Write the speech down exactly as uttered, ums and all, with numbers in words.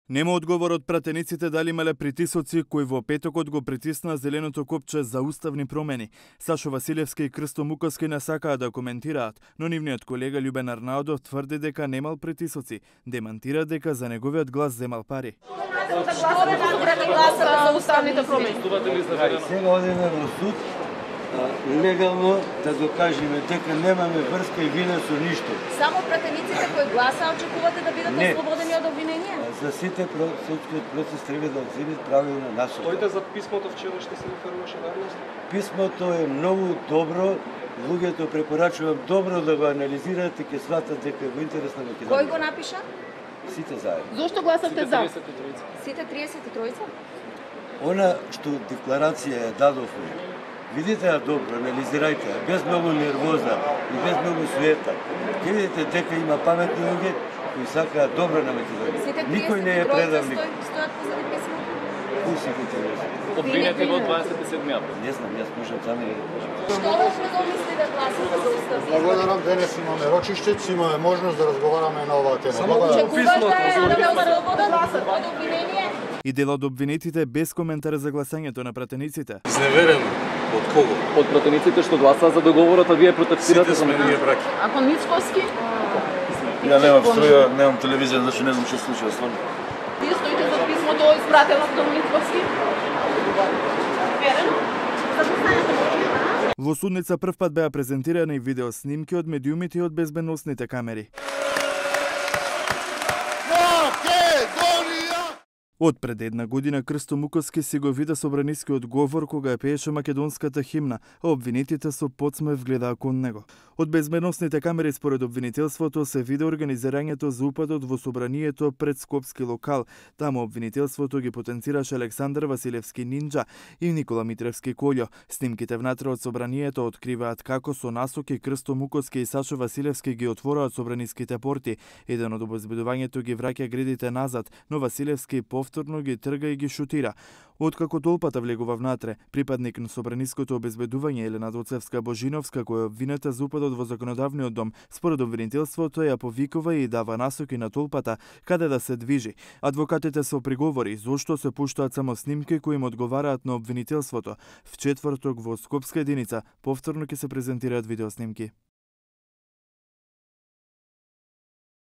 Нема одговор од пратениците дали имале притисоци кои во петокот го притисна зеленото копче за уставни промени. Сашо Василевски и Кристо Муковски не сакаа да коментираат, но нивниот колега Љубен Арнаудов тврди дека немал притисоци, демантира дека за неговиот глас земал пари. За уставните промени. Сега одиме во суд легално да докажеме дека немаме врска и вина со ништо. Само пратениците кои гласа очекувате да бидат Не. ослободени од обвинение? За сите судскиот процес треба да земе правилна насока. Тојте за писмото вчера што се реферуваше давност? Писмото е многу добро, луѓето препорачувам добро да го анализирате, ќе сватат дека е во интерес на Македонија. Кој го напиша? Сите заедно. Зошто гласавте за? Сите триесет и тројца? Она што декларација ја дадовме, видите ја добро, анализирајте ја, без многу нервоза и без многу суета. Ќе видите дека има паметни луѓе кои сакаат добро на Македонија. Никој не е предавник. Стојат позади писмото? Кои сите триесет? Обвинети во дваесет и седми април. Не знам, јас можам само да кажам. Што го мисли да гласате за уставни? Благодарам, денес имаме рочиштец, имаме можност да разговараме на оваа тема. Очекувате да ве ослободат од обвинение? И дел од обвинетите без коментар за гласањето на пратениците. Изневерен од кого? Од пратениците што гласаа за договорот, а вие протестирате Сите за сме ние браќа. А кон Мицковски? Ја немам струја, немам телевизија, значи не знам што се случува стварно. Вие стоите за писмото испратено кон Мицковски? Верено? Во судница првпат беа презентирани видео снимки од медиумите и од безбедносните камери. Од пред една година Кристо Муковски си го вида собранискиот говор кога ја пееше македонската химна, а обвинетите со подсмев гледаа кон него. Од безбедносните камери според обвинителството се виде организирањето за упадот во собранието пред скопски локал. Таму обвинителството ги потенцираше Александар Василевски Нинџа и Никола Митревски Колјо. Снимките внатре од собранието откриваат како со насоки Кристо Муковски и Сашо Василевски ги отвораат собраниските порти. Еден од обезбедувањето ги враќа гредите назад, но Василевски повторно ги трга и ги шутира. Откако толпата влегува внатре, припадник на собраниското обезбедување Елена Доцевска Божиновска, која е обвинета за упадот во законодавниот дом, според обвинителството ја повикува и дава насоки на толпата каде да се движи. Адвокатите се приговори зошто се пуштаат само снимки кои им одговараат на обвинителството. В четврток во Скопска единица повторно ќе се презентираат видеоснимки.